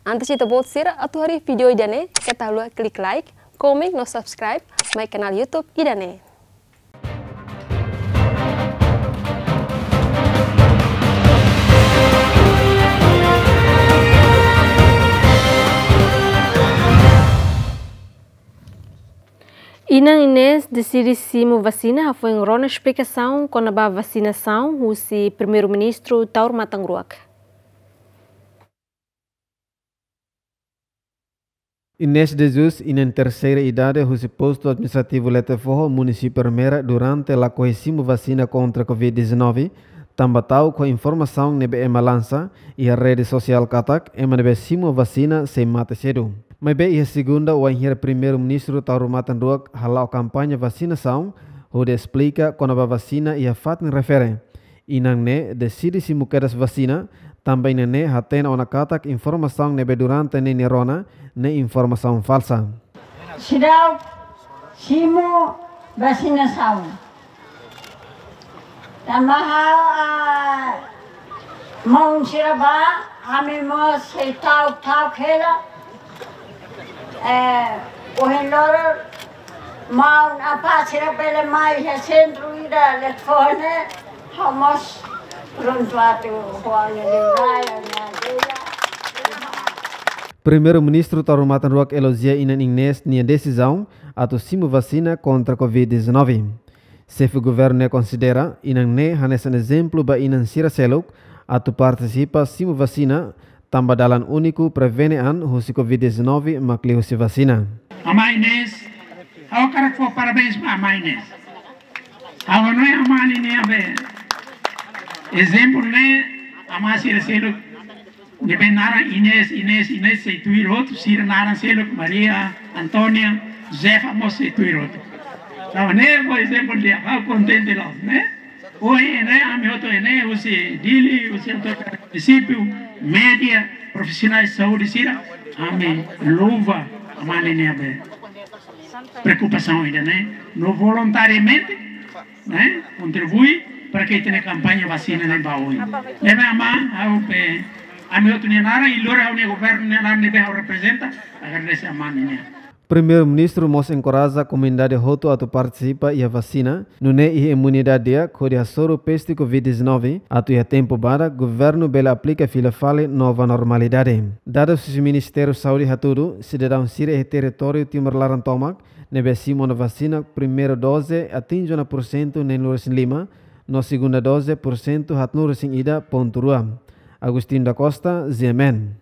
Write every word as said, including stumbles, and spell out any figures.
Antes ita-boot sira atu haree vídeo ida-ne'e, keta haluha klik like, komen no subscribe mai kanál YouTube ida-ne'e. Inan Inês deside simu vasina, hafoin rona esplikasaun kona-ba vasinasaun husi Primeiru-Ministru Taur Matan Ruak. Inês de Jesus, inan terseira idade husi Postu Administrativu Letefoho, Munisípiu Ermera, durante lakohi simu vasina kontra Covid dezanove, tanba ta'uk ho informasaun ne'ebé ema lansa iha rede sosiál katak ema ne'ebé simu vasina sei mate sedu. Maibé iha Segunda, wainhira Primeiru-Ministru Taur Matan Ruak hala'o kampaña vasinasaun hodi esplika kona-ba vasina iha fatin refere, inan ne'e deside simu kedas vasina, tanba inan ne'e hatene ona katak informasaun ne'ebé durante ne'e nia rona ne'e informasaun falsa. Seidauk simu vasinasaun. Tanba ha'u, ah, maun sira bá, ami mós sei ta'uk, ta'uk hela. Eh, ohin loron, maun apá sira bele mai iha sentru ida Letefoho ne'e, ha'u mós prontu atu ho ha'u-nia liurai, ha'u-nia ajuda. Primeiru-Ministru Taur Matan Ruak elojia inan Inês nia desizaun atu simu vasina kontra Covid dezanove. Xefe Governu ne'e konsidera inan ne'e hanesan ezemplu ba inan sira seluk atu partisipa simu vasina, tanba dalan úniku prevene an husi Covid dezanove mak liuhusi vasina. Amá Inês, ha'u hakarak fó parabéns ba amá Inês. Ha'u hanoin amá ninia be ezemplu ne'e, amá sira seluk ne'ebé naran Inês, Inês, Inês sei tuir hotu, sira naran seluk Maria, Antónia, Josefa mós sei tuir hotu. Entaun ne'e fó ezemplu di'ak, ha'u kontente loos, ne'e? Ohin ne'e ami hotu ne'e husi Dili, husi autoridade munisípiu, média, profisionais saúde sira, ami louva amá ninia be preokupasaun ida-ne'e, no voluntariamente, ne'e, kontribui para que ita-nia kampaña vasina ne'e bá oin. Ne'ebé amá, ha'u be, ami hotu nia naran, i lori ha'u-nia governu nia naran ne'ebé ha'u reprezenta, agradese amá ninia. Primeiru-Ministru mós enkoraja komunidade hotu atu partisipa iha vasina, nune'e iha imunidade di'ak hodi hasoru peste Covid dezanove, atu iha tempu badak governu bele aplika fila fali nova normalidade. Dadus husi Ministériu Saúde hatudu, sidadaun sira iha territóriu Timor laran tomak ne'ebé simu ona vasina primeira doze atinje ona pursentu neenulu-resin-lima, no segunda doze pursentu haatnulu-resin-ida pontu rua. Agostinho da Costa, G M N.